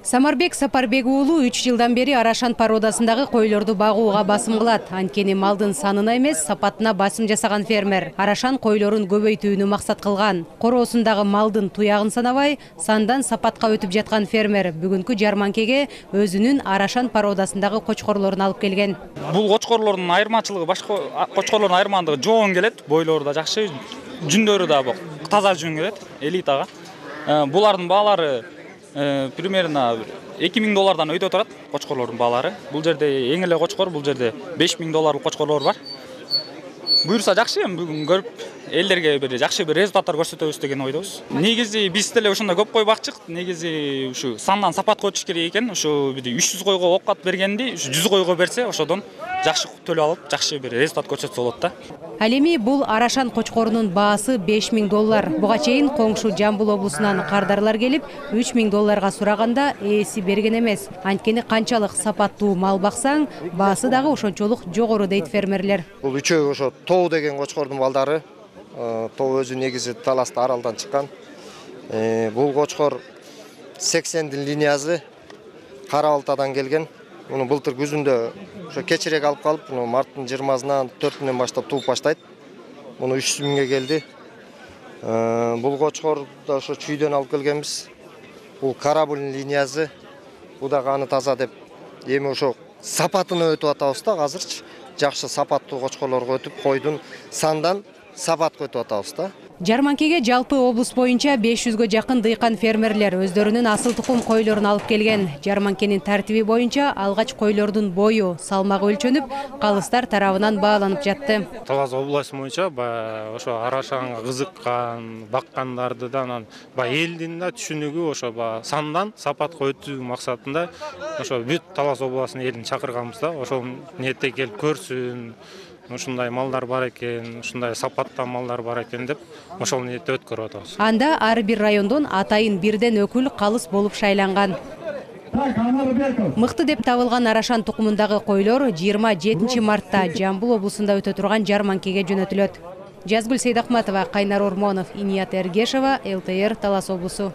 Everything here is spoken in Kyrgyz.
Самарбек Сапарбек уулу 3 жылдан бери Арашан породасындагы койлорду багууга басым кылат. Анткени малдын санына эмес, сапатына басым жасаган фермер Арашан койлорун көбөйтүүнү максат кылган. Короосундагы малдын туягын санабай, сандан сапатка өтүп жаткан фермер бүгүнкү жарманкеге өзүнүн Арашан породасындагы кочкорлорун алып келген. Бул кочкорлордун айырмачылыгы башка кочкорлордун айырмандыгы жоон келет, бойлору да жакшы, жүндөрү да таза жүн келет, элитага. Булардын баалары примерно $2000 өйдө турат кочкорлордун баалары. Бул жерде эң эле кочкор, бул жерде $5000 кочкорлор бар. Буюрса жакшы, бүгүн көрүп элдерге бир жакшы бир результаттар көрсөтөбүз деген ойдобуз. Негизи биз деле ошондой көп кой бакчык. Негизи ушу сандан сапатка өтүш керек экен. Ошо 300 койго окат бергенди 100 койго берсе, ошодон жакшы төлөп алып, жакшы бир результат көрсөтсө болот да. Ал эми бул Арашан кочкорунун баасы $5000. Буга чейин коңшу Жамбыл облусунан кардарлар келип, $3000 сураганда ээси берген эмес. Анткени канчалык сапаттуу мал баксаң, баасы дагы ошончолук жогору дейт фермерлер. Бул үчөө ошо Тоо деген кочкордун балдары. Тоо өзү негизи Таласта аралдан чыккан. Бул кочкор 80-дин линиясы Кара Балтадан келген. Муну былтыр күзүндө ошо кечирээк алып калып, муну марттын 20-сынан 4-үнөн баштап тууп баштайт. Муну 300 миңге келди. Бул кочкор да ошо чүйдөн алып келгенбиз. Бул Карабулин линиясы. Бу да каны таза деп. Эми ошо сапатына өтүп атабыз да азырчы. Жакшы сапаттуу кочкорлорго өтүп, койдун сандан сапатка өтүп атабыз да. Жарманкеге жалпы облус боюнча 500гө жакын дыйкан фермерлер өздөрүнүн асыл тукум койлорун алып келген. Жарманкенин тартиби боюнча алгач койлордун бою, салмагы өлчөнүп, калыстар тарабынан бааланып жатты. Талас областы боюнча ошо Арашанга кызыккан, баккандардан элдин да түшүнүгү ошо сандан сапатка өтүү максатында ошо бүт Талас областынын элин чакырганбыз да. Ошол ниетте келип көрсүн. Ушундай малдар бар экен, ушундай сапатта малдар бар экен деп ошол ниетте өткөрүп атабыз. Анда ар бир райондон атайын бирден өкүл калыс болуп шайланган. Мыкты деп табылган Арашан тукумундагы койлор 27 мартта Жамбыл облусунда өтө турган жарманкеге жөнөтүлөт. Жазгүл Сейдахматова, Кайнар Ормонов, Иният Эргешова, ЛТР, Талас облусу.